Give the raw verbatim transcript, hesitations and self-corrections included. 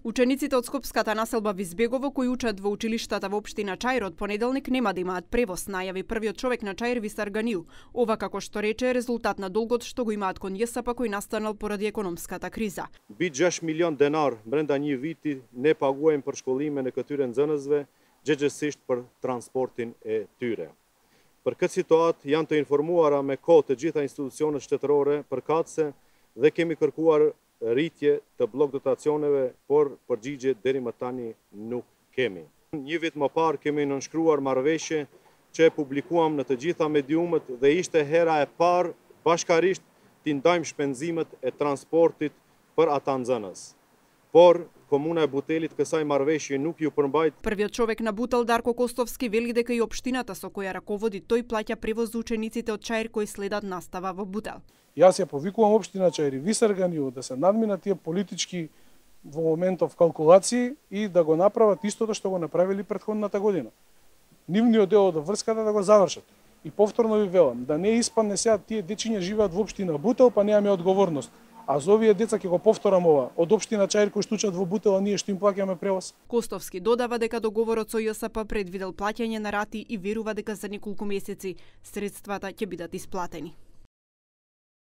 Учениците од скопската населба Визбегово кои учат во училиштата во општина Чаир од понеделник нема да имаат превоз, најави првиот човек на Чаир Висар Ганил. Ова, како што рече, е резултат на долгот што го имаат кон ЈСП кој настанал поради економската криза. Би gjashtë milion denar brenda një viti ne paguajmë për shkollimin e këtyre nxënësve, gjithsesi për transportin e tyre. Për këtë situatë janë të informuara me kohë të gjitha institucionet shtetërore përkatëse dhe kemi kërkuar rritje të blok dotacioneve, por përgjigje deri më tani nuk kemi. Një vit më parë kemi nënshkruar marrëveshje që e publikuam në të gjitha mediumet dhe ishte hera e parë bashkarisht t'i ndajmë shpenzimet e transportit për ata nxënës. Por Komuna e Butelit kësaj marrëveshje nuk ju përmbajt. Првиот човек на Бутел Дарко Костовски вели дека и општината со која раководи тој плаќа превоз за учениците од Чаир кои следат настава во Бутел. Јас ја повикувам општина Чаир и Висар Ганил да се надминат тие политички во моментов калкулации и да го направат истото што го направили претходната година. Нивниот дел од врската да го завршат. И повторно ви велам, да не испадне сега тие дечиња живеат во општина Бутел, па немаме одговорност. А за овие деца ќе го повторам ова, од општина Чаир кои што учат во Бутел, ние што им плаќаме превоз. Костовски додава дека договорот со ЈСП предвидел плаќање на рати и верува дека за неколку месеци средствата ќе бидат исплатени.